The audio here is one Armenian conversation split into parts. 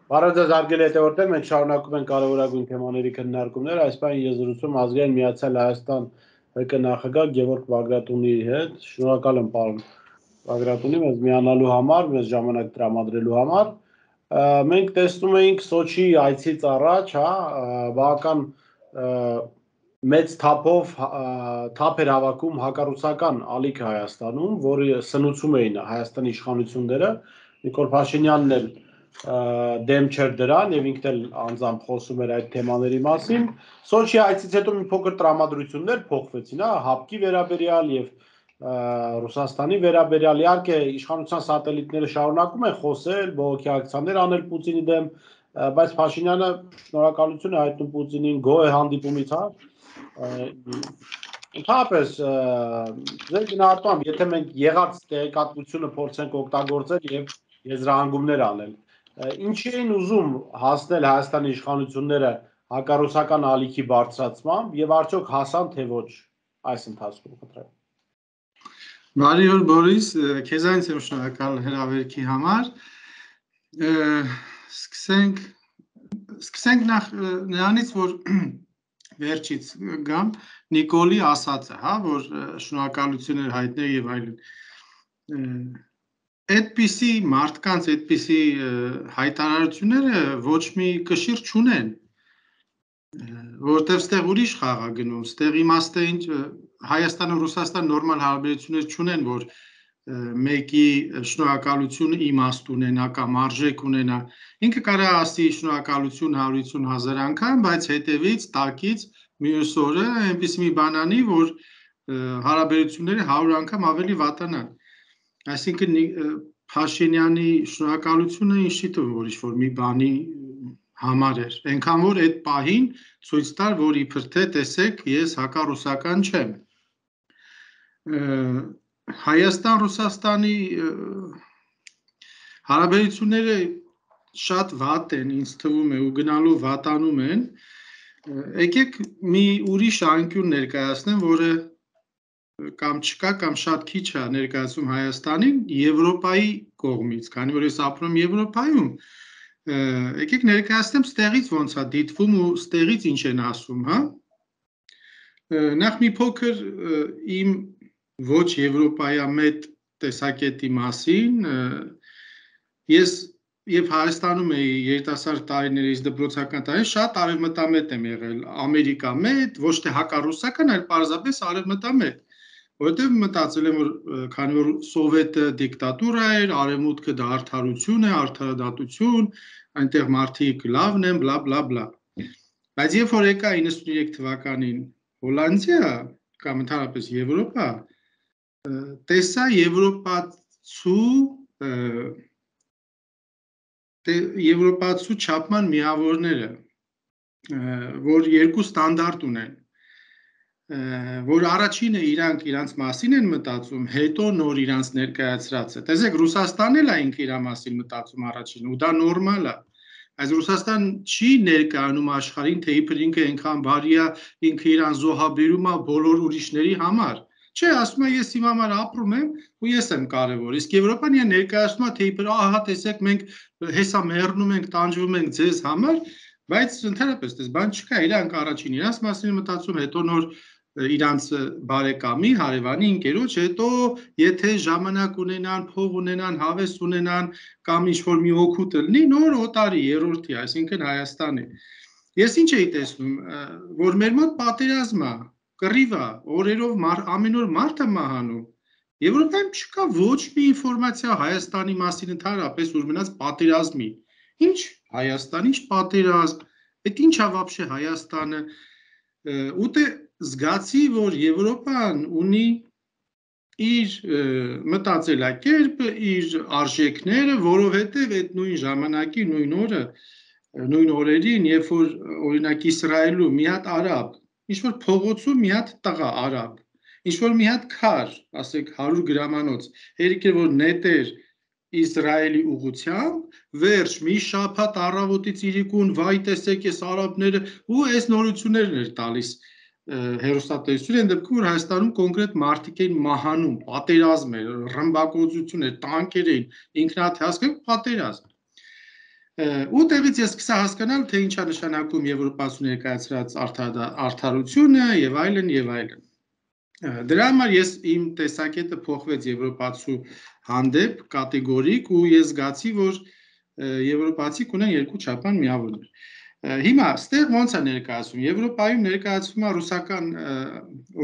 Բարև ձեզ հարգելի հետևորդներ, մենք շարունակում ենք կարևորագույն թեմաների քննարկումները, այս պահին ես զրուցում Ազգային Միացյալ Հայաստան ՀԿ նախագահ Գևորգ Բագրատունի հետ։ Շնորհակալ եմ պարոն Բագրատունի մեզ միանալու համար, մեզ ժամանակ տրամադրելու համար։ Մենք տեսնում էինք Սոչի այցից առաջ, բավական մեծ թափով թափ էր հավաքում հակառուսական ալիք Հայաստանում, որը սնուցում էին Հայաստանի իշխանությունները, Նիկոլ Փաշինյանն էլ դեմ չէր դրան եւ ինքն էլ անձամբ խոսում էր այդ թեմաների մասին։ Սոչի այցից հետո մի փոքր տրամադրություններ փոխվեցին, հապկի վերաբերյալ եւ Ռուսաստանի վերաբերյալ։ Իհարկե իշխանության սատելիտները շարունակում են խոսել, բողոքի ակցիաներ անել Պուտինի դեմ, բայց Փաշինյանը շնորհակալություն է հայտնում Պուտինին գոհ է հանդիպումից, Ընդհանրապես, ձեր գնահատմամբ, եթե մենք եղած տեղեկատվությունը փորձենք օգտագործել եւ եզրահանգումներ անել, ինչի էին ուզում հասնել Հայաստանի իշխանությունները հակառուսական ալիքի բարձրացմամբ եւ արդյոք հասան թե ոչ այս ընթացքում, խնդրեմ։ Բարի օր Բորիս, քեզանից եմ շնորհակալ հրավերքի համար։ Սկսենք նախ նրանից, որ վերջից գամ Նիկոլի ասածը, որ շնորհակալություն էր հայտնել եւ այլն։ Այդպիսի մարդկանց այդպիսի հայտարարությունները ոչ մի կշիռ չունեն, որտեղ ստեղ ուրիշ խաղ է գնում, ստեղ իմաստը ինչ Հայաստանը Ռուսաստան նորմալ հարաբերություններ չունեն, որ մեկի շնորհակալությունը իմաստ ունենա կամ արժեք ունենա։ Ինքը կարա ասի շնորհակալություն 150,000 անգամ, բայց հետևից տակից մյուս օրը այնպես մի բան անի, որ հարաբերությունները 100 անգամ ավելի վատանան։ Այսինքն Փաշինյանի շնորհակալությունը ինչի թվում որ ինչ-որ մի բանի համար էր, այնքան որ այդ պահին ցույց տար, որ իբր թե տեսեք, ես հակառուսական չեմ։ Հայաստան-Ռուսաստանի հարաբերությունները շատ վատ են, ինձ թվում է, ու գնալու վատանում են։ Եկեք մի ուրիշ անկյուն ներկայացնեմ, որը կամ չկա, կամ շատ քիչ է ներկայացում Հայաստանին Եվրոպայի կողմից, քանի որ ես ապրում եմ Եվրոպայում, եկեք ներկայացնեմ ստեղից ոնց է դիտվում ու ստեղից ինչ են ասում, Նախ մի փոքր իմ ոչ եվրոպայամետ տեսակետի մասին, ես Երբ Հայաստանում էի երիտասարդ տարիներից դպրոցական տարիներին շատ արևմտամետ եմ եղել, ամերիկամետ, ոչ թե հակառուսական, այլ պարզապես արևմտամետ, որովհետև մտածել եմ, որ քանի որ սովետը դիկտատուրա էր, արևմուտքը դա արդարություն է, արդարադատություն, այնտեղ մարդիկ լավն են, բլա բլա բլա։ Բայց երբ որ եկա 93 թվականին Հոլանդիա կամ ընդհանրապես Եվրոպա, տեսա եվրոպացու չափման միավորները, որ երկու ստանդարտ ունեն, որ առաջինը իրանք իրանց մասին են մտածում, հետո նոր իրանց ներկայացրածը։ Տեսեք, Ռուսաստանն էլ է ինքը իր մասին մտածում առաջին, ու դա նորմալ է։ Այս Ռուսաստան չի ներկայանում աշխարհին, թե իբր ինքը այնքան բարի է, ինքը իրան զոհաբերում է բոլոր ուրիշների համար։ Չէ, ասում է ես իմ համար ապրում եմ ու ես եմ կարևոր։ Իսկ Եվրոպան իրեն ներկայացնում է, թե իբր ահա տեսեք մենք հեսա մեռնում ենք, տանջվում ենք ձեզ համար, բայց ընդհանրապես դες բան չկա, իրանք առաջին իրանց մասին մտածում, հետո նոր իրանց բարեկամի, հարևանի, ընկերոջ, հետո եթե ժամանակ ունենան, փող ունենան, հավես ունենան կամ ինչ-որ մի օգուտ լինի, նոր օտարի, երրորդի, այսինքն Հայաստանի։ Ես ինչ էի տեսնում, որ մեր մոտ պատերազմ է, կռիվ է, օրերով ամեն օր մարդ է մահանում։ Եվրոպայում չկա ոչ մի ինֆորմացիա Հայաստանի մասին ընդհանրապես, որ մնաց պատերազմի։ Ինչ Հայաստան, ինչ պատերազմ, այդ ինչ է вообще Հայաստանը։ Ուտե զգացի, որ Եվրոպան ունի իր մտածելակերպը, իր արժեքները, որովհետև այդ նույն ժամանակի, նույն օրերին, երբ որ օրինակ Իսրայելում մի հատ արաբ, ինչ-որ փողոցում մի հատ տղա արաբ, ինչ-որ մի հատ քար, ասեք 100 գրամանոց, հերիք է որ նետեր Իսրայելի ուղղությամբ, վերջ մի շաբաթ առավոտից իրիկուն վայ տեսեք այս արաբները ու այս նորություններն էր տալիս հերոստատեսությունը, այն դեպքում որ Հայաստանում կոնկրետ մարդիկ էին մահանում, պատերազմ էր, ռմբակոծություն էր, տանկեր էին, ինքնաթիասք պատերազմ։ Ու տեղից ես սկսա հասկանալ, թե ինչ է նշանակում Եվրոպացու ներկայացրած արդարությունը եւ այլն եւ այլն։ Դրա համար ես իմ տեսակետը փոխվեց Եվրոպացու հանդեպ կատեգորիկ ու ես զգացի, որ եվրոպացիք ունեն երկու չափան միավորներ։ Հիմա ստեղ ոնց է ներկայացվում։ Եվրոպայում ներկայացվում է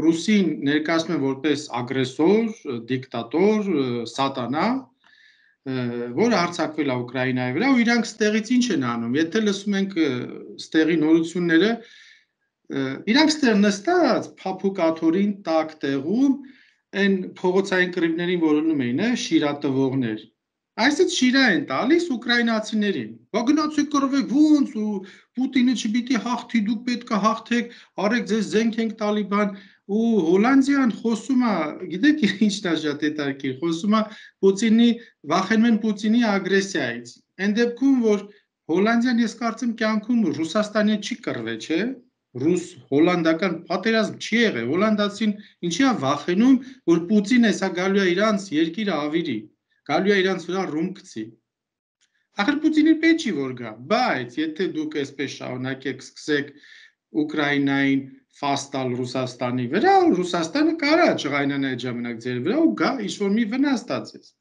ռուսին ներկայացնում են որպես ագրեսոր, դիկտատոր, սատանա, որը հարձակվել է Ուկրաինայի վրա ու իրանք ստեղից ինչ են անում։ Եթե լսում ենք ստեղի նորությունները, իրանք ստեղ նստած փափուկ աթորին տակ տեղում այն փողոցային կռիվներին որոնում էին, շիրատվողներ։ Այսինքն շիրա են տալիս ուկրաինացիներին։ Բա գնացեք կռվեք ոնց ու Պուտինը չպիտի հաղթի, դուք պետք է հաղթեք, արեք ձեզ զենք ենք տալի բան ու Հոլանդիան խոսում է, գիտեք ինչն է շատ հետաքրքիր, խոսում է Պուտինի վախենում են Պուտինի ագրեսիայից։ Այն դեպքում որ Հոլանդիան ես կարծեմ կյանքում Ռուսաստանի չի կռվել, չէ՞։ Ռուս-հոլանդական պատերազմ չի եղել, հոլանդացին ինչի է վախենում, որ Պուտինը հեսա գալու է իրանց երկիրը ավիրի, գալու է իրանց վրա ռումբ գցի։ Ախր Պուտինի պետք չի որ գա, բայց եթե դուք այսպես շարունակեք սկսեք Ուկրաինային ֆաստալ Ռուսաստանի վրա, Ռուսաստանը կարա ջղայնանա այդ ժամանակ ձեր վրա ու գա ինչ-որ մի վնաս տածես։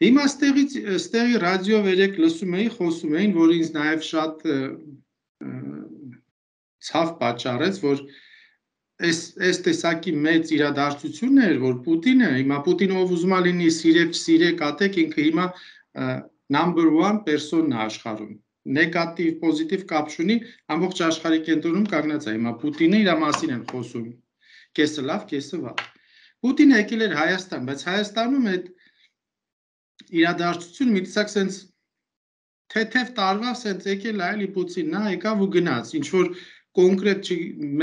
Հիմա ստեղի ռադիո վերեք լսում էի, խոսում էին, որ ինձ նաև շատ ցավ պատճառեց, որ այս տեսակի մեծ իրադարձությունն էր, որ Պուտինը, հիմա Պուտինը ով ուզում է լինի սիրեք, չսիրեք, ատեք, ինքը հիմա number 1 պերսոնն է աշխարհում։ Նեգատիվ, պոզիտիվ կապ չունի, ամբողջ աշխարհի կենտրոնում կանգնած է հիմա Պուտինը իր մասին են խոսում։ Կեսը լավ, կեսը վատ։ Պուտինը եկել էր Հայաստան, բայց Հայաստանում այդ իրադարձությունը մի տեսակ sense թեթև տարվա sense եկել է էլի Պուտինն, նա եկավ ու գնաց, ինչ որ կոնկրետ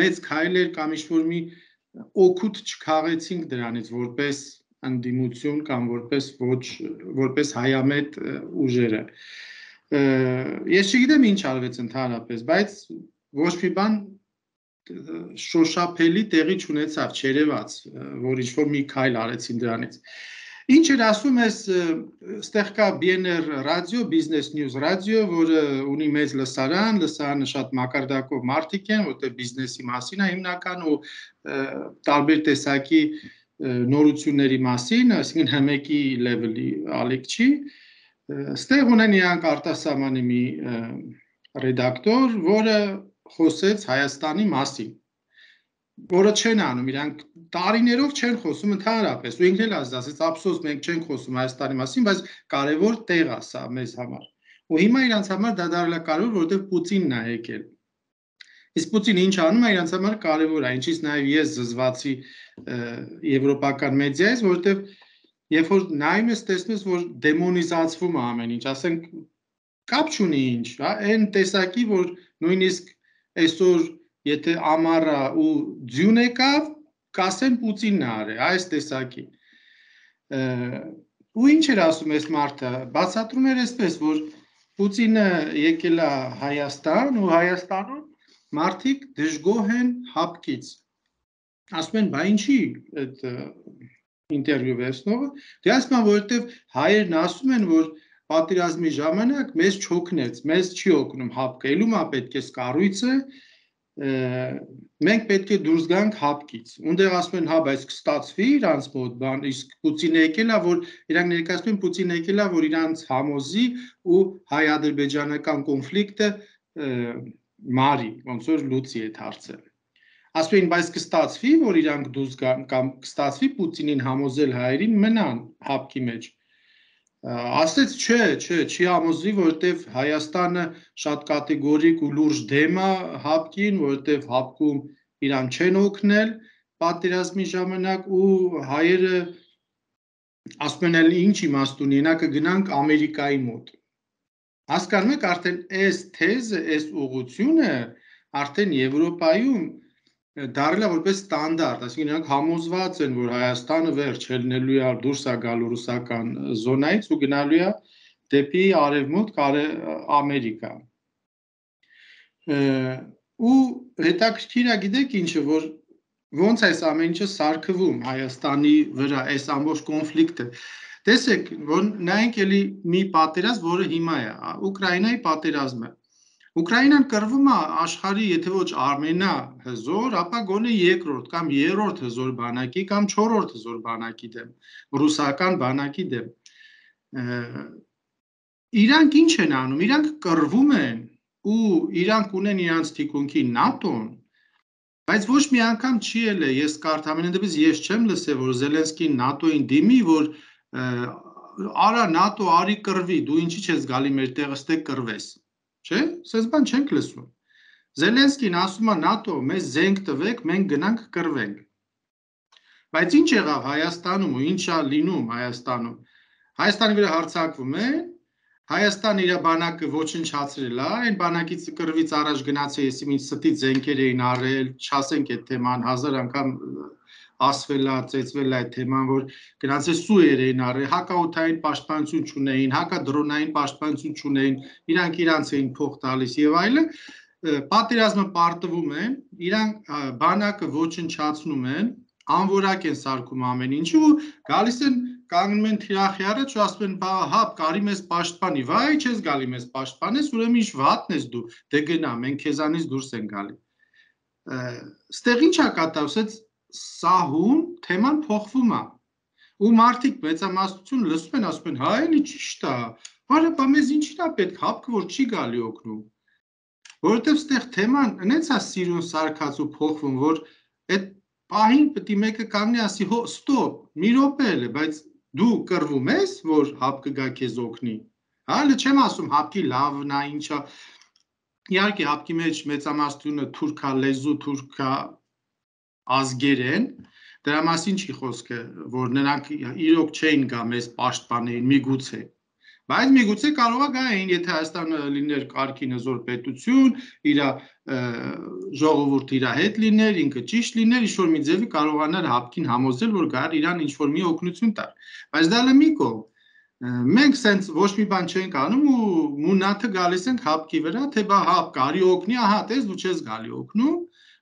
մեծ քայլեր կամ ինչ-որ մի օգուտ չքաղեցինք դրանից որպես ընդդիմություն կամ որպես հայամետ ուժերը։ Ես չգիտեմ ինչ արվեց ընդհանրապես, բայց ոչ մի բան շոշափելի տեղի չունեցավ, չերևաց, որ ինչ-որ մի քայլ արեցին դրանից։ Ինչ էր ասում ես, ստեղ կա BNR ռադիո, Business News ռադիո, որը ունի մեծ լսարանը շատ մակարդակով մարդիկ են, որտեղ բիզնեսի մասին է հիմնական ու տարբեր տեսակի նորությունների մասին, այսինքն հմեկի լեվելի ալիք չի, ստեղ ունեն իրանք արտասահմանի մի ռեդակտոր, որը խոսեց Հայաստանի մասին, որը չեն անում, իրանք տարիներով չեն խոսում ընդհանրապես, ու ինքն էլ ասաց, ափսոս մենք չենք խոսում Հայաստանի մասին, բայց կարևոր տեղ է սա մեզ համար։ Ու հիմա իրանց համար դա դարձել է կարևոր, որովհետև Պուտինն է եկել։ Իսկ Պուտինը ինչ անում է, իրանց համար կարևոր է, ինչից նաև ես զզվացի եվրոպական մեդիայից, որովհետև երբ որ նայում ես, տեսնում ես, որ դեմոնիզացվում է ամեն ինչ, ասենք կապ չունի ինչ, այն տեսակի, որ նույնիսկ այսօր եթե ամառը ու ձյուն եկավ, կասեն Պուտինն է արել, այս տեսակի։ Ու ինչ էր ասում այս մարդը, բացատրում էր այսպես, որ Պուտինը եկել է Հայաստան ու Հայաստանում մարդիկ դժգոհ են հապկից։ Ասում են, բա ինչի այդ ինտերվյու վերցնողը, դե ասում են, որովհետև հայերն ասում են, որ պատերազմի ժամանակ մեզ չօգնեց, մեզ չի օգնում հապկը, ելում է պետք է կառույցը, մենք պետք է դուրս գանք հապկից։ Ունդեղ ասում են, հա, բայց կստացվի իրանց մոտ բան, իսկ Պուտինը եկել է, որ իրանք ներկայացնում են Պուտինը եկել է, որ իրանց համոզի ու հայ-ադրբեջանական կոնֆլիկտը մարի, ոնց որ լուծի այդ հարցը։ Ասում են, բայց կստացվի, որ իրանք դուրս գան կամ կստացվի Պուտինին համոզել հայերին մնան հապկի մեջ։ Ասեց, չի համոզվի, որովհետև Հայաստանը շատ կատեգորիկ ու լուրջ դեմ է հապկին, որովհետև հապկում իրան չեն օգնել պատերազմի ժամանակ ու հայերը ասում են, էլ ինչ իմաստ ունի, նա կգնանք Ամերիկայի մոտ։ Հասկանում եք, արդեն այս թեզը, այս ուղղությունը արդեն Եվրոպայում դարել է որպես ստանդարտ, այսինքն նրանք համոզված են, որ Հայաստանը վերջ ելնելու է դուրս է գալու ռուսական զոնայից ու գնալու է դեպի արևմուտք Ամերիկա։ Ու հետաքրքիր է, գիտեք ինչը, որ ոնց այս ամեն ինչը սարքվում Հայաստանի վրա, այս ամբողջ կոնֆլիկտը։ Տեսեք, որ նայենք էլի մի պատերազմ, որը հիմա է, Ուկրաինայի պատերազմը։ Ուկրաինան կռվում է աշխարհի, եթե ոչ ամենահզոր, ապա գոնե երկրորդ կամ երրորդ հզոր բանակի կամ չորրորդ հզոր բանակի դեմ, ռուսական բանակի դեմ։ Իրանք ինչ են անում, իրանք կռվում են ու իրանք ունեն իրանց թիկունքի ՆԱՏՕ-ն, բայց ոչ մի անգամ չի ելել, ես ամենայն դեպս ես չեմ լսել, որ Զելենսկին ՆԱՏՕ-ին դիմի, որ արա ՆԱՏՕ արի կռվի, դու ինչի չես գալի մեր տեղը ստե կռվես, չէ՞, սենց բան չենք լսում։ Զելենսկին ասում է ՆԱՏՕ, մեզ զենք տվեք, մենք գնանք կռվենք։ Բայց ինչ եղավ Հայաստանում ու ինչ է լինում Հայաստանում։ Հայաստանի վրա հարձակվում է, Հայաստանը իր բանակը ոչնչացրել է, այն բանակից կռվից առաջ գնացել, եսի ինչ ստի զենքեր էին առել, չասենք այդ թեման, 1000 անգամ ասվել է, ծեծվել է այդ թեման, որ գնացել սուեր էին առել, հակաօդային պաշտպանություն չունեին, հակադրոնային պաշտպանություն չունեին, իրանք իրանց էին փող տալիս եւ այլն, պատերազմը պարտվում են, իրանք բանակը ոչնչացնում են, անորակ են սարքում ամեն ինչը ու գալիս են կանգնում են թիրախի առաջ ու ասում են, բա հա, կարի մեզ պաշտպանի, վայ, չես գալի մեզ պաշտպանես, ուրեմն ինչ վատն ես դու, դե գնա, մենք քեզանից դուրս ենք գալի։ Ստեղ ինչ է կատարվում, սահուն թեման փոխվում է։ Ու մարդիկ մեծամասնություն լսում են, ասում են, հա, էլի ճիշտ է, բարը, բա մեզ ինչին է պետք, հապկը որ չի գալի օգնում։ Որովհետև ստեղ թեման այնց է սիրուն սարքած ու փոխվում, որ այդ պահին պետք է մեկը կանգնի ասի, հո, ստոպ, մի րոպե էլ է, բայց դու կռվում ես, որ հապկը գա քեզ օգնի։ Հա, հələ չեմ ասում հապկի լավն է, ինչա։ Իհարկե հապկի մեջ մեծամասնությունը թուրքա լեզու, թուրքա ազգեր են, դրա մասին չի խոսքը, որ նրանք իրոք չէին գա մեզ պաշտպանեին, միգուցե։ Բայց միգուցե կարող է գային, եթե Հայաստանը լիներ կարգին հզոր պետություն, իր ժողովուրդը իր հետ լիներ, ինքը ճիշտ լիներ, ինչ-որ մի ձևի կարողանար հապկին համոզել, որ գար իրան ինչ-որ մի օգնություն տար։ Բայց դա լի մի կողմ։ Մենք սենց ոչ մի բան չենք անում ու մունաթը գալիս ենք հապկի վրա, թե բա հապ կարի օգնի, ահա տես դու չես գալի օգնում,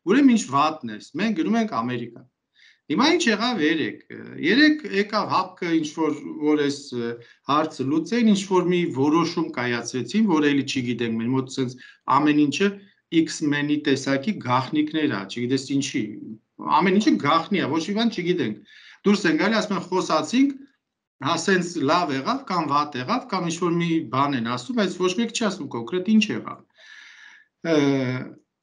ուրեմն ինչ վատն ես, մենք գնում ենք Ամերիկա։ Հիմա ինչ եղավ երեք եկավ հապկը ինչ-որ այս հարցը լուծեին, ինչ-որ մի որոշում կայացրեցին, որ էլի չգիտենք, մեր մոտ սենց ամեն ինչը X-Men-ի տեսակի գաղտնիքներ է, չգիտես ինչի, ամեն ինչը գաղտնի է, ոչ մի բան չգիտենք։ Դուրս են գալի, ասում են խոսացինք, հա սենց լավ եղավ կամ վատ եղավ կամ ինչ-որ մի բան են ասում, բայց ոչ մեկ չի ասում կոնկրետ ինչ եղավ։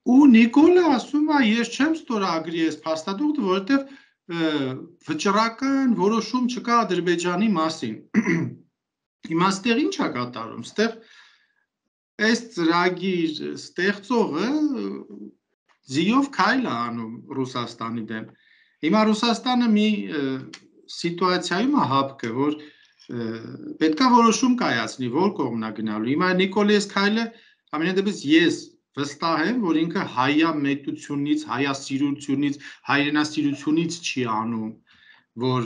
Ու Նիկոլը ասում է, ես չեմ ստորագրի այս փաստաթուղթը, որովհետև վճռական որոշում չկա Ադրբեջանի մասին։ Հիմա ստեղ ինչ է կատարում, ստեղ այս ծրագիր ստեղծողը ձիով քայլ է անում Ռուսաստանի դեմ։ Հիմա Ռուսաստանը մի սիտուացիայում է հապկը, որ պետքա որոշում կայացնի, որ կողմն է գնալու։ Հիմա Նիկոլի այս քայլը ամենայն դեպս ես վստահ եմ, որ ինքը հայամետությունից, հայասիրությունից, հայրենասիրությունից չի անում, որ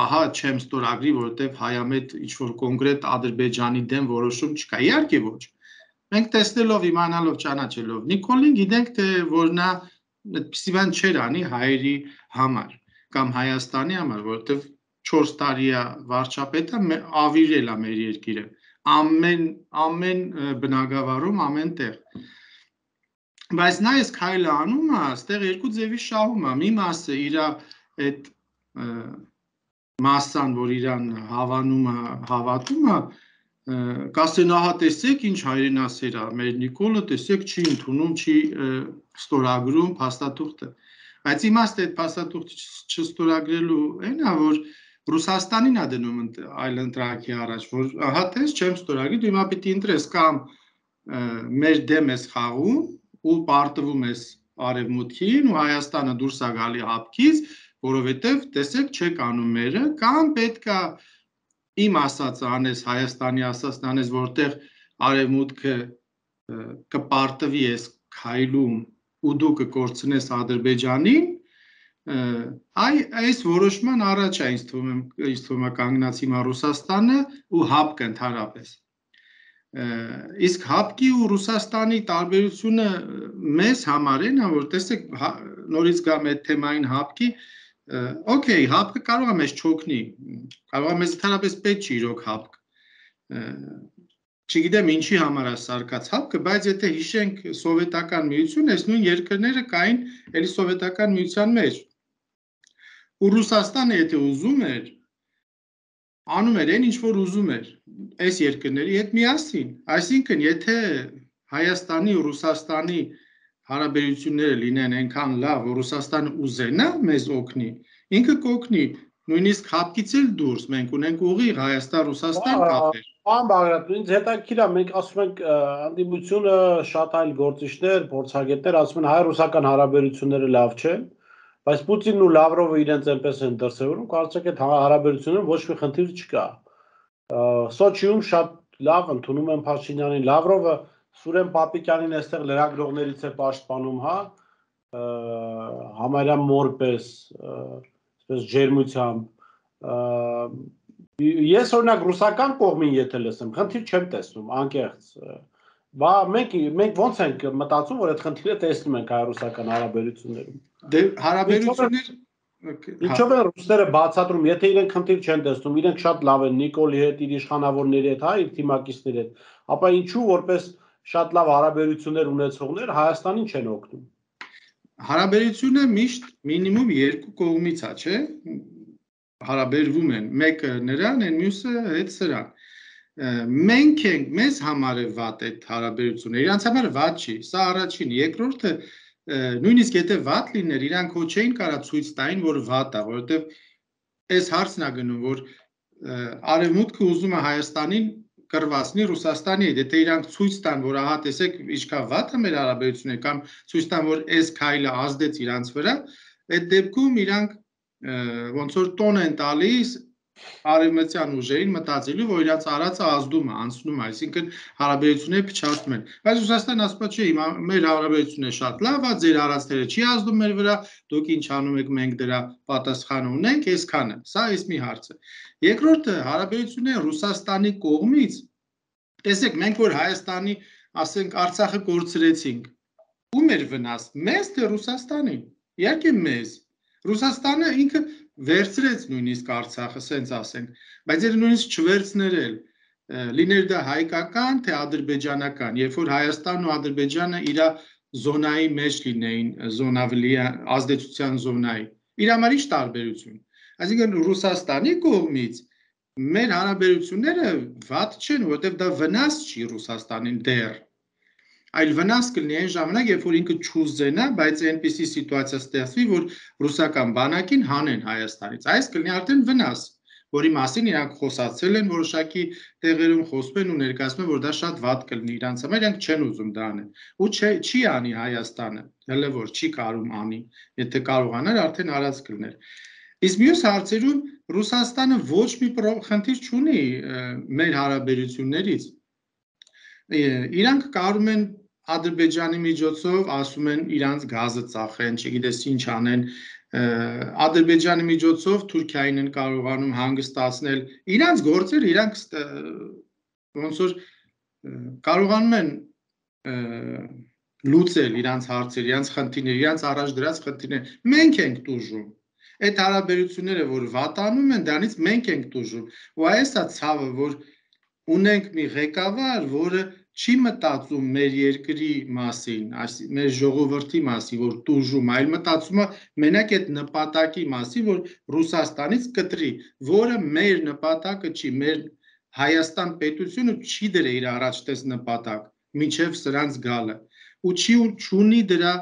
ահա չեմ ստորագրի, որովհետև հայամետ ինչ-որ կոնկրետ Ադրբեջանի դեմ որոշում չկա։ Իհարկե ոչ։ Մենք տեսնելով, իմանալով, ճանաչելով Նիկոլին գիտենք, թե որ նա այդպիսի բան չէր անի հայերի համար կամ Հայաստանի համար, որովհետև 4 տարի է վարչապետը, ավիրել է մեր երկիրը, ամեն բնակավարում, ամեն տեղ։ Բայց նա այս քայլը անում է, այստեղ երկու ձևի շահում է, մի մասը իր այդ մասսան, որ իրան հավանում է, հավատում է, կասեն ահա տեսեք ինչ հայրենասեր է, մեր Նիկոլը տեսեք չի ընդունում, չի ստորագրում փաստաթուղթը։ Բայց իմաստը այդ փաստաթուղթը չստորագրելու այն է, որ Ռուսաստանին է դնում այլընտրանքի առաջ, որ ահա տես չեմ ստորագրի, դու հիմա պիտի ընտրես կամ մեր դեմ ես խաղում ու պարտվում ես արևմուտքին ու Հայաստանը դուրս է գալի հապկից, որովհետև տեսեք չեք անում մերը, կամ պետքա իմ ասածը անես, Հայաստանի ասածն անես, որտեղ արևմուտքը կպարտվի այս քայլում ու դու կկորցնես Ադրբեջանին, այս որոշման առաջ է ինձ թվում է կանգնած հիմա Ռուսաստանը ու ՀԱՊԿ-ը ընդհանրապես։ Իսկ ՀԱՊԿ-ի ու Ռուսաստանի տարբերությունը մեզ համար է, որ տեսեք նորից գամ այդ թեմային ՀԱՊԿ-ի, օքեյ, ՀԱՊԿ-ը կարող է մեզ չօգնի, կարող է մեզ ընդհանրապես պետք չի իրոք ՀԱՊԿ, չգիտեմ ինչի համար է սարքած ՀԱՊԿ-ը, բայց եթե հիշենք սովետական միություն, այս նույն երկրները կային էլի սովետական միության մեջ, ու Ռուսաստանը եթե ուզում էր, անում էր այն ինչ որ ուզում էր այս երկրների հետ միասին, այսինքն եթե Հայաստանի ու Ռուսաստանի հարաբերությունները լինեն այնքան լավ, որ Ռուսաստանը ուզենա մեզ օգնի, ինքը կօգնի, նույնիսկ ՀԱՊԿ-ից էլ դուրս մենք ունենք ուղիղ Հայաստան-Ռուսաստան կապեր։ Պարոն Բաղրատ, ինձ հետաքրքիր է, մենք ասում ենք հանդիպությունը շատ այլ գործիչներ, փորձագետներ ասում են հայ-ռուսական հարաբերությունները լավ չեն, բայց Պուտինն ու Լավրովը իրենց այնպես են դրսևորում, կարծեք այդ հարաբերություններում ոչ մի խնդիր չկա։ Սոչիում շատ լավ ընդունում են Փաշինյանին, Լավրովը Սուրեն Պապիկյանին այստեղ լրագրողներից է պաշտպանում, հա, համարյա մորպես, այսպես ջերմությամբ։ Ես օրինակ ռուսական կողմին եթե լսեմ, խնդիր չեմ տեսնում, անկեղծ։ Մենք ոնց ենք մտածում, որ այդ խնդիրը տեսնում ենք հայ-ռուսական հարաբերություններում։ Դե հարաբերություններ Ինչով են ռուսները բացատրում, եթե իրենք խնդիր չեն տեսնում, իրենք շատ լավ են Նիկոլի հետ, իր իշխանավորների հետ, հա, իր թիմակիցների հետ, ապա ինչու որպես շատ լավ հարաբերություններ ունեցողներ Հայաստանին չեն օգնում։ Հարաբերությունը միշտ մինիմում երկու կողմից է, չէ՞։ Հարաբերվում են, մեկը նրան, այն մյուսը հետ սրան։ Մենք ենք, մեզ համար է վատ այդ հարաբերությունը, իրանց համար վատ չի, սա առաջին, երկրորդը նույնիսկ եթե վատ լիներ, իրանք հո չէին կարա ցույց տային, որ վատ է, որովհետև այս հարցն է գնում, որ արևմուտքը ուզում է Հայաստանին կռվացնի Ռուսաստանի հետ, եթե իրանք ցույց տան, որ ահա տեսեք ինչքան վատ է մեր հարաբերությունները, կամ ցույց տան, որ այս քայլը ազդեց իրանց վրա, այդ դեպքում իրանք ոնց որ տոն են տալիս արևմտյան ուժերին մտածելու, որ իրանց արածը ազդում է, անցնում է, այսինքն հարաբերությունները փչացնում են։ Բայց Ռուսաստանը ասում է, չէ, հիմա մեր հարաբերությունները շատ լավ է, ձեր արածները չի ազդում մեր վրա, դուք ինչ անում եք, մենք դրա պատասխանը ունենք, այսքանը։ Սա էս մի հարց է։ Երկրորդը հարաբերությունները Ռուսաստանի կողմից, տեսեք, մենք որ Հայաստանի, ասենք, Արցախը կորցրեցինք, ում էր վնաս, մեզ թե Ռուսաստանին։ Իհարկե մեզ։ Ռուսաստանը ինքը վերցրեց նույնիսկ Արցախը, սենց ասենք, բայց եթե նույնիսկ չվերցներ էլ, լիներ դա հայկական, թե ադրբեջանական, երբ որ Հայաստանն ու Ադրբեջանը իր զոնայի մեջ լինեին, ազդեցության զոնայի, իր համար ինչ տարբերություն։ Այսինքն Ռուսաստանի կողմից մեր հարաբերությունները վատ չեն, որովհետև դա վնաս չի Ռուսաստանին դեռ, այլ վնաս կլինի այն ժամանակ, երբ որ ինքը չուզենա, բայց այնպիսի սիտուացիա ստեղծվի, որ ռուսական բանակին հանեն Հայաստանից, այս կլինի արդեն վնաս, որի մասին իրանք խոսացել են որոշակի տեղերում, խոսում են ու ներկայացնում են, որ դա շատ վատ կլինի իրանց համար, իրանք չեն ուզում դա անեն, ու չի անի Հայաստանը, հələ որ չի կարող անի, եթե կարողանար, արդեն արած կլներ։ Իսկ մյուս հարցերում Ռուսաստանը ոչ մի խնդիր չունի մեր հարաբերություններից։ Իրանք կարում են Ադրբեջանի միջոցով, ասում են իրանց գազը ծախեն, չգիտես ինչ անեն, Ադրբեջանի միջոցով Թուրքիային են կարողանում հանգստացնել, իրանց գործերը, իրանք ոնց որ կարողանում են լուծել իրանց հարցերը, իրանց խնդիրները, իրանց առաջ դրած խնդիրները, մենք ենք տուժում։ Այդ հարաբերությունները, որ վատանում են, դրանից մենք ենք տուժում։ Ու այս է ցավը, որ ունենք մի ղեկավար, որը չի մտածում մեր երկրի մասին, մեր ժողովրդի մասին, որ տուժում, այլ մտածում է մենակ այդ նպատակի մասին, որ Ռուսաստանից կտրի, որը մեր նպատակը չի, մեր Հայաստան պետությունը չի դրել իր առաջտես նպատակ, մինչև սրանց գալը, ու չունի դրա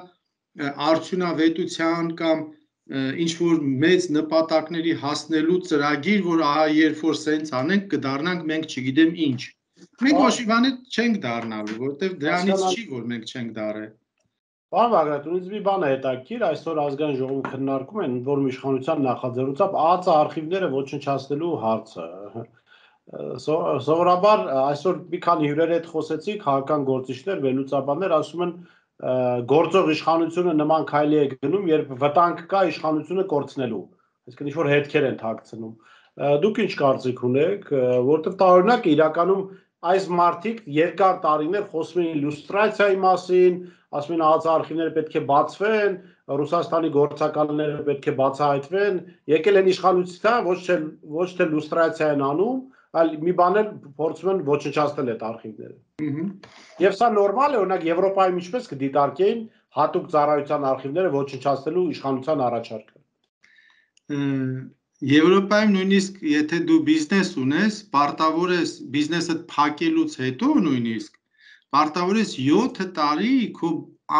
արդյունավետության կամ ինչ-որ մեծ նպատակների հասնելու ծրագիր, որ ահա երբ որ սենց անենք, կդառնանք մենք չգիտեմ ինչ։ Մենք ոչ մի բան չենք դառնալու, որովհետև դրանից չի, որ մենք չենք դառել։ Պարոն Բաղրատ, ինձ մի բան է հետաքրքիր, այսօր ազգային ժողովում քննարկում են, որ իշխանության նախաձեռնությամբ ԱԱԾ արխիվները ոչնչացնելու հարցը։ Սովորաբար այսօր մի քանի հյուրերի հետ խոսեցինք, քաղաքական գործիչներ, վերլուծաբաններ ասում են, գործող իշխանությունը նման քայլի է գնում, երբ վտանգ կա իշխանությունը կորցնելու, այսինքն ինչ-որ հետքեր են թաքցնում։ Դուք ինչ կարծիք ունեք, որտեղ տարօրինակ իրականում այս մարդիկ երկար տարիներ խոսում էին լյուստրացիայի մասին, ասում էին ԱԱԾ արխիվները պետք է բացվեն, Ռուսաստանի գործակալները պետք է բացահայտվեն, եկել են իշխանության, ոչ թե լյուստրացիա են անում, այլ մի բան էլ փորձում են ոչնչացնել այդ արխիվները։ Եվ սա նորմալ է, օրինակ Եվրոպայում ինչպես կդիտարկեին հատուկ ծառայության արխիվները ոչնչացնելու իշխանության առաջարկը։ Եվրոպայում նույնիսկ եթե դու բիզնես ունես, պարտավոր ես բիզնեսը փակելուց հետո նույնիսկ պարտավոր ես 7 տարի քո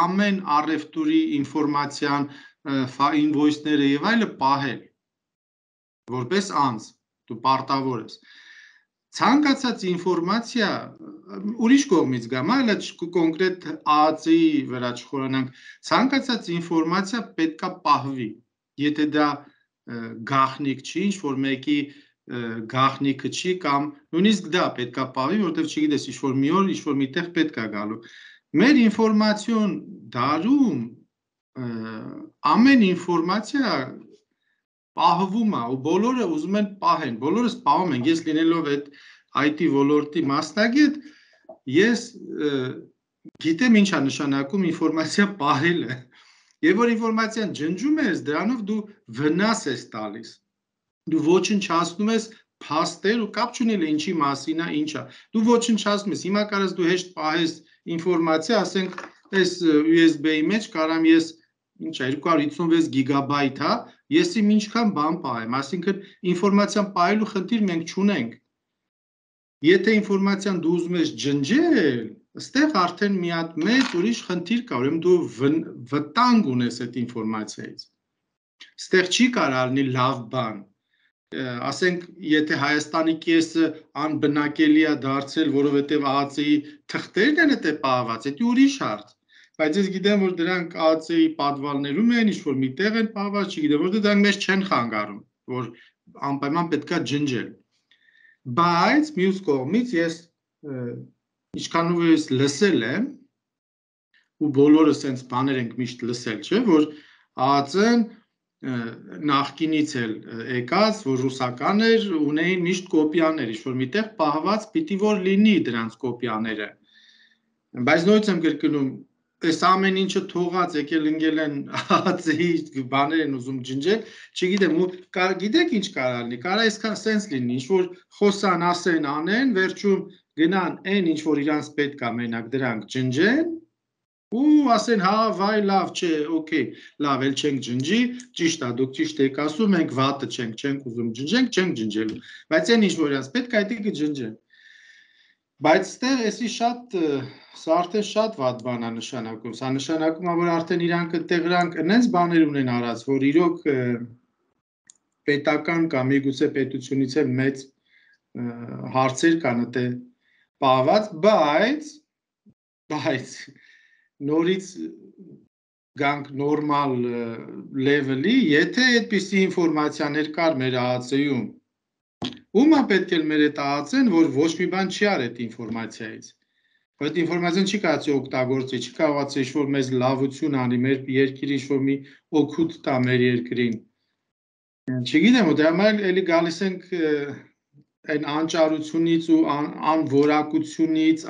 ամեն առևտուրի ինֆորմացիան, ինվոյսները եւ այլը պահել որպես անձ, դու պարտավոր ես։ Ցանկացած ինֆորմացիա ուրիշ կողմից գամ, այլ կոնկրետ ԱԱԾ-ի վրա չխորանանք, ցանկացած ինֆորմացիա պետքա պահվի, եթե դա գաղտնիք չի, ինչ-որ մեկի գաղտնիքը չի կամ նույնիսկ դա պետքա պահվի, որովհետև չգիտես, ինչ-որ մի օր, ինչ-որ միտեղ պետքա գալու։ Մեր ինֆորմացիոն դարում ամեն ինֆորմացիա պահվում է ու բոլորը ուզում են պահեն, բոլորս պահում ենք, ես լինելով այդ IT ոլորտի մասնագետ, ես գիտեմ ինչ է նշանակում ինֆորմացիա պահելը, եւ որ ինֆորմացիան ջնջում ես, դրանով դու վնաս ես տալիս, դու ոչնչացնում ես փաստեր ու կապ չունի ինչի մասին է, ինչ է, դու ոչնչացնում ես, հիմա կարես դու հեշտ պահես ինֆորմացիա, ասենք, այս USB-ի մեջ կարամ ես ինչ է 256 գիգաբայթ է, ես իմ ինչքան բան պահեմ, այսինքն ինֆորմացիան պահելու խնդիր մենք չունենք։ Եթե ինֆորմացիան դու ուզում ես ջնջել, այստեղ արդեն մի հատ մեծ ուրիշ խնդիր կա, ուրեմն դու վտանգ ունես այդ ինֆորմացիայից։ Այստեղ չի կարող լինի լավ բան։ Ասենք, եթե Հայաստանի կեսը անբնակելի է դարձել, որովհետև ԱԱԾ-ի թղթերն են դա պահված, դա ուրիշ հարց։ Բայց ես գիտեմ, որ դրանք ԱԱԾ-ի պատվալներում են, ինչ-որ միտեղ են պահված, չգիտեմ, որտեղ դրանք մեզ չեն խանգարում, որ անպայման պետքա ջնջել։ Բայց մյուս կողմից ես ինչքանով ես լսել եմ, ու բոլորը սենց բաներ ենք միշտ լսել, չէ, որ ԱԱԾ-ն նախկինից էլ եկած, որ ռուսական էր, ունեին միշտ կոպիաներ, ինչ-որ միտեղ պահված պիտի որ լինի դրանց կոպիաները։ Բայց նույնիսկ եմ կրկնում, այս ամեն ինչը թողած եկել ընկել են ԱԱԾ-ի բաներ են ուզում ջնջել, չգիտեմ, գիտեք ինչ կարող լինի, կարող այսքան սենց լինի, ինչ-որ խոսան, ասեն, անեն, վերջում գնան այն ինչ-որ իրանց պետք է մենակ դրանք ջնջեն, ու ասեն, հա, վայ, լավ, չէ, օքեյ, լավ, էլ չենք ջնջի, ճիշտ է, դուք ճիշտ եք ասում, մենք վատը չենք ուզում ջնջենք, չենք ջնջելու, բայց այն ինչ-որ իրանց պետք է այդ կջնջեն։ Բայց ստեղ էսի շատ, սա արդեն շատ վատ բան է նշանակում, սա նշանակում է, որ արդեն իրանք տեղրանք նենց բաներ ունեն արած, որ իրոք պետական կամ միգուցե պետությունից էլ մեծ հարցեր կան դե պահված, բայց նորից գանք նորմալ լևելի, եթե այդպիսի ինֆորմացիաներ կար մեր ԱԱԾ-ում, ում է պետք է մեր այդ ԱԱԾ-ն, որ ոչ մի բան չի արել այդ ինֆորմացիայից։ Այդ ինֆորմացիան չի կարծի օգտագործի, չի կարողացի ինչ-որ մեզ լավություն անի, մեր երկիրը ինչ-որ մի օգուտ տա մեր երկրին։ Չգիտեմ, դրա համար էլի գալիս ենք այն անճարությունից ու անորակությունից,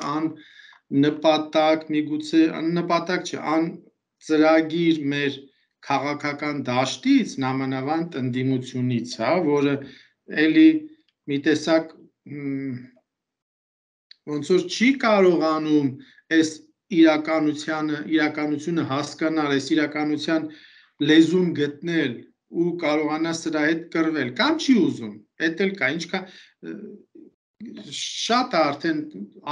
նպատակ, միգուցե նպատակ չէ, ծրագիր մեր քաղաքական դաշտից, նամանավանդ ընդդիմությունից, հա, որը էլի մի տեսակ ոնց որ չի կարողանում այս իրականությունը հասկանալ, այս իրականության լեզուն գտնել ու կարողանա սրա հետ կռվել, կամ չի ուզում, էդ էլ կա, ինչքան շատ արդեն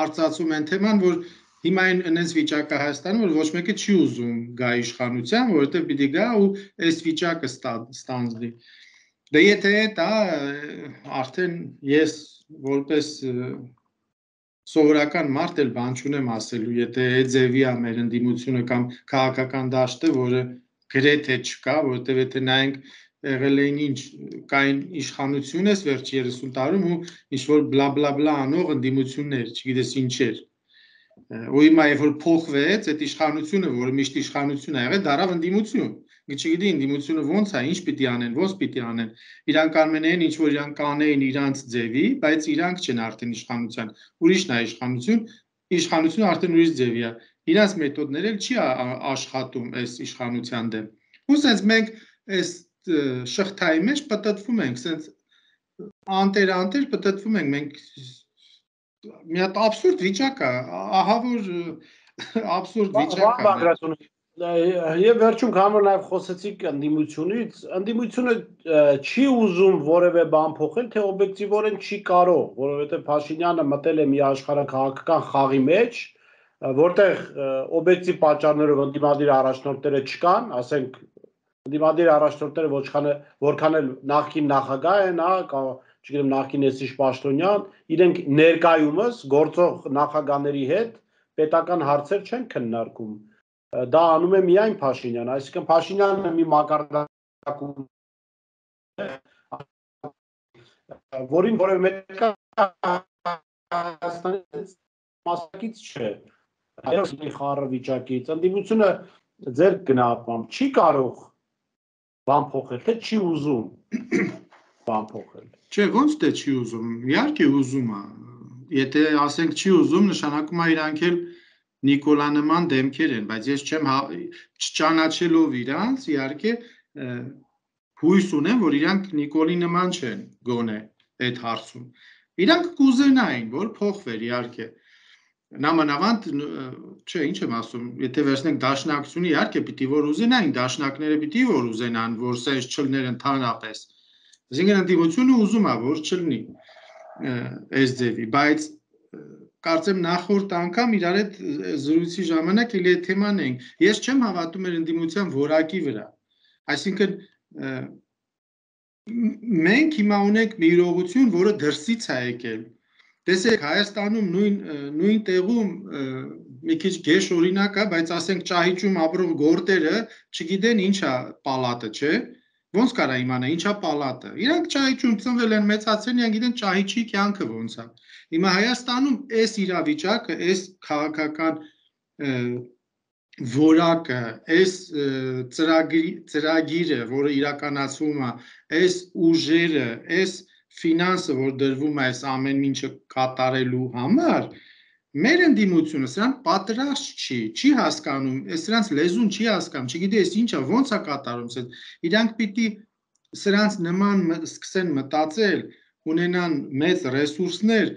արծացում են թեման, որ հիմա այնպես վիճակ է Հայաստանում, որ ոչ մեկը չի ուզում գա իշխանության, որովհետև պիտի գա ու այս վիճակը ստանձնի։ Դե եթե դա արդեն ես որպես սովորական մարդ էլ բան չունեմ ասելու, եթե այդ ձևի է մեր ընդդիմությունը կամ քաղաքական դաշտը, որը գրեթե չկա, որովհետև եթե նայենք եղել էին ինչ կային իշխանություն ես վերջ 30 տարում ու ինչ որ բլա բլա բլա անող ընդդիմություններ, չգիտես ինչեր։ Ու հիմա երբ որ փոխվեց այդ իշխանությունը, որը միշտ իշխանություն ա եղել, դարավ ընդդիմություն։ Չգիտի ընդդիմությունը ոնց է, ինչ պիտի անեն, ոնց պիտի անեն։ Իրանք անմենեն ինչ որ իրանք կանեին իրանց ձևի, բայց իրանք չեն արդեն իշխանության։ Ուրիշն է իշխանությունը արդեն ուրիշ ձևի է։ Իրանց մեթոդները չի աշխատում այս իշխանության դեմ։ Ու sense մենք այս շղթայի մեջ պատտվում ենք, sense անտեր պատտվում ենք, մենք մի հատ աբսուրդ վիճակ է, ահա որ աբսուրդ վիճակ է։ Եվ վերջում քան նաև խոսեցիք ընդդիմությունից, ընդդիմությունը չի ուզում որևէ բան փոխել, թե օբյեկտիվորեն չի կարող, որովհետև Փաշինյանը մտել է մի աշխարհաքաղաքական խաղի մեջ, որտեղ օբյեկտիվ պատճառներով ընդդիմադիր առաջնորդները չկան, ասենք ընդդիմադիր առաջնորդները որքան էլ նախկին նախագահ են, չգիտեմ նախկին Էսիշ Պաշտոնյան, իրենք ներկայումս գործող նախագահների հետ պետական հարցեր չեն քննարկում։ Դա անում է միայն Փաշինյանը, այսինքն Փաշինյանը մի մակարդակում որին որևէ մասնակից չէ, խառը վիճակից, ընդդիմությունը ձեր գնահատմամբ չի կարող բան փոխել, թե չի ուզում բան փոխել։ Չէ, ոնց թե չի ուզում, իհարկե ուզում է, եթե ասենք չի ուզում, նշանակում է իրանք էլ Նիկոլա նման դեմքեր են, բայց ես չճանաչելով իրանց, իհարկե հույս ունեմ, որ իրանք Նիկոլի նման չեն գոնե այդ հարցում։ Իրանք կուզենային, որ փոխվեր, իհարկե։ Նամանավանդ, չէ, ինչ եմ ասում, եթե վերցնենք դաշնակցությունը, իհարկե պիտի որ ուզենային, դաշնակները պիտի որ ուզենան, որ սենց չլներ ընդհանրապես։ Այսինքն ընդդիմությունը ուզում է, որ չլինի այս ձևի, բայց կարծեմ նախորդ անգամ իրար հետ զրույցի ժամանակ էլի այդ թեման ենք։ Ես չեմ հավատում էր ընդդիմության որակի վրա։ Այսինքն մենք հիմա ունենք մի իրողություն, որը դրսից է եկել։ Տեսեք, Հայաստանում նույն տեղում մի քիչ գեշ օրինակ է, բայց ասենք Ճահիճում ապրող գորտերը չգիտեն ինչա պալատը, չէ՞։ Ոնց կարա իմանա ինչա պալատը։ Իրանք Ճահիճում ծնվել են, մեծացել են, իրանք գիտեն Ճահիճի կյանքը ոնց է։ Հիմա Հայաստանում այս իրավիճակը, այս քաղաքական որակը, այս ծրագիրը, որը իրականացվում է, այս ուժերը, այս ֆինանսը, որ դրվում է այս ամեն ինչը կատարելու համար, մեր ընդդիմությունը սրան պատրաստ չի հասկանում, սրանց լեզուն չի հասկանում, չգիտի այս ինչա, ոնց է կատարում, իրանք պիտի սրանց նման սկսեն մտածել, ունենան մեծ ռեսուրսներ,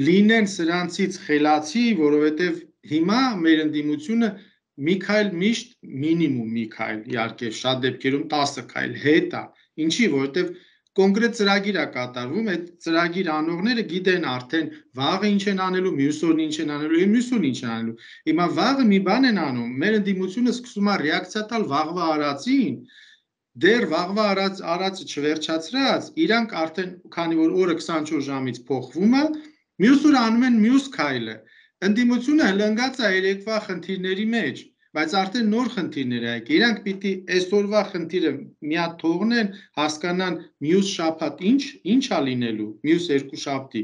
լինեն սրանցից խելացի, որովհետև հիմա մեր ընդդիմությունը մի քայլ միշտ մինիմում մի քայլ, իհարկե շատ դեպքերում 10 քայլ հետ է, ինչի, որովհետև կոնկրետ ծրագիր է կատարվում, այդ ծրագիր անողները գիտեն արդեն վաղը ինչ են անելու, մյուս օրն ինչ են անելու, եւ մյուս օրն ինչ են անելու։ Հիմա վաղը մի բան են անում, մեր ընդդիմությունը սկսում է ռեակցիա տալ վաղվա արածին, դեռ վաղվա արածը չվերջացրած, իրանք արդեն քանի որ օրը 24 ժամից փոխվում է, մյուս օր անում են մյուս քայլը։ Ընդդիմությունը հլնգած է երեկվա խնդիրների մեջ, բայց արդեն նոր խնդիրներ է եկել։ Իրանք պիտի այսօրվա խնդիրը մի հատ թողնեն, հասկանան մյուս շաբաթ ինչ է լինելու, մյուս երկուշաբթի,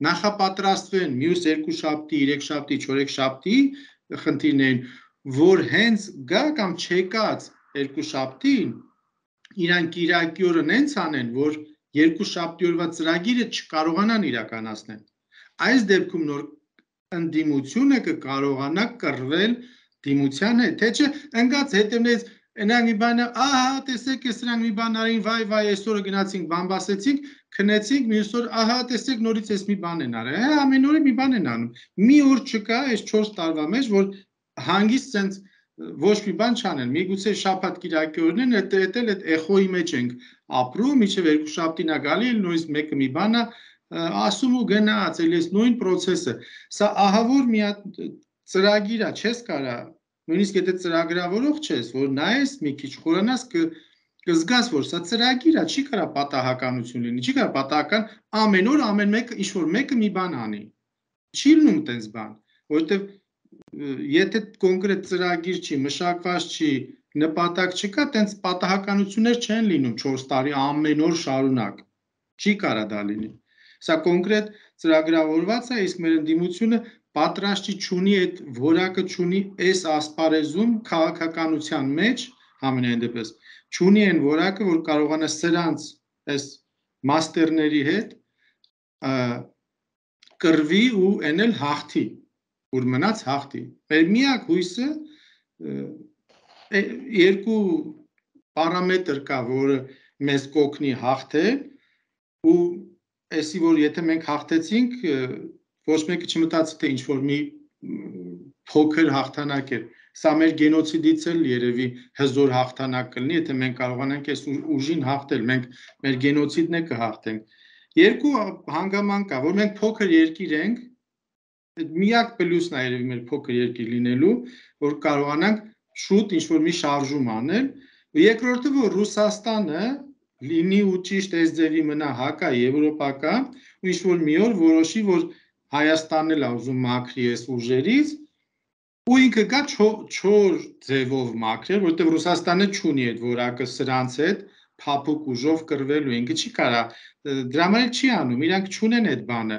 նախապատրաստվեն մյուս երկուշաբթի, երեքշաբթի, չորեքշաբթի խնդիրներին, որ հենց գա կամ չեկած երկուշաբթին իրանք Կիրակի օրը նենց անեն, որ երկուշաբթի օրվա ծրագիրը չկարողանան իրականացնել։ Այս դեպքում նոր ընդդիմությունը կկարողանա կռվել դիմության հետ, թե չէ ընկած հետևներից այնակ մի բան, ահա տեսեք, սրանք մի բան արին, վայ, այսօրը գնացինք, բամբասեցինք, քնեցինք, մյուս օր, ահա տեսեք, նորից էս մի բան են արել, ամեն օր մի բան են անում։ Մի օր չկա այս 4 տարվա մեջ, որ հանգիստ sense ոչ մի բան չանեն, միգուցե շաբաթ Կիրակի օրն են, այդ այդ էխոյի մեջ ենք ապրում, մինչև երկուշաբթին է գալի, նույնիսկ մեկը մի բան է ասում ու գնաց, էլի էս նույն process-ը։ Սա ահավոր մի հատ ծրագիր է, չես կարա, նույնիսկ եթե ծրագրավորող չես, որ նայես մի քիչ խորանաս կզգաս, որ սա ծրագիր է, չի կարա պատահականություն լինի, չի կարա պատահական ամեն օր ամեն մեկը ինչ որ մեկը մի բան անի։ Չի լինում տենց բան, որովհետև եթե կոնկրետ ծրագիր չի, մշակված չի, նպատակ չկա, տենց պատահականություններ չեն լինում 4 տարի ամեն օր շարունակ։ Չի կարա դա լինի։ Սա կոնկրետ ծրագրավորված է, իսկ մեր ընդդիմությունը պատրաստի չունի այդ որակը չունի այս ասպարեզում քաղաքականության մեջ համենայն դեպս չունի այն որակը, որ կարողանա սրանց այս մաստերների հետ կրվի ու էնել հաղթի, որ մնաց հաղթի։ Մեր միակ հույսը երկու պարամետր կա, որը մեզ կօգնի հաղթել ու այսի որ եթե մենք հաղթեցինք, ոչ մեկը չմտածի թե ինչ որ մի փոքր հաղթանակ է։ Սա մեր գենոցիդից էլ երևի հզոր հաղթանակ կլինի, եթե մենք կարողանանք այս ուժին հաղթել, մենք մեր գենոցիդն է կհաղթենք։ Երկու հանգամանք կա, որ մենք փոքր երկիր ենք, միակ պլյուսն է երևի մեր փոքր երկիր լինելու, որ կարողանանք շուտ ինչ որ մի շարժում անել, երկրորդը որ Ռուսաստանը լինի ու ճիշտ այս ձևի մնա հակա եվրոպական ու ինչ որ մի օր որոշի, որ Հայաստանն էլ ուզում մաքրի այս ուժերից ու ինքը գա չոր ձևով մաքրել, որտեղ Ռուսաստանը չունի այդ որակը սրանց հետ փափուկ ուժով կրվելու, ինքը չի կարա, դրա համար չի անում, իրանք չունեն այդ բանը,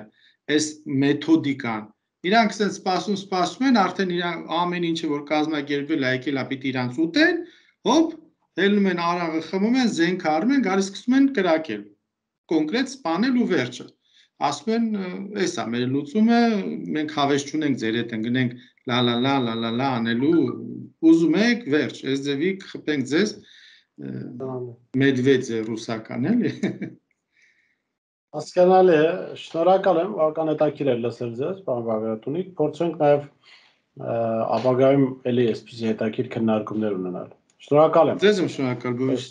այս մեթոդիկան։ Իրանք ասեն սպասում են, արդեն իրանք ամեն ինչը որ կազմակերպվել է, եկել է պիտի իրանց ուտեն, հոպ, հելնում են արաղը խմում են, զենք առնում են, գալիս սկսում են կրակել, կոնկրետ սպանել ու վերջը։ Ասում են, էսա մեր լուծումը, մենք հավես չունենք ձեր հետ ընկնենք լա անելու, ուզում եք, վերջ, այս ձևի կխփենք ձեզ Մեդվեդևը ռուսական էլի։ Հասկանալի է, շնորհակալ եմ, որքան հետաքրքիր է լսել ձեզ, պարոն Բագրատունիկ, փորձենք նաև ապագայում էլի այսպիսի հետաքրքիր քննարկումներ ունենալ։ Շնորհակալ եմ։ Ձեզ եմ շնորհակալ, Բոյս։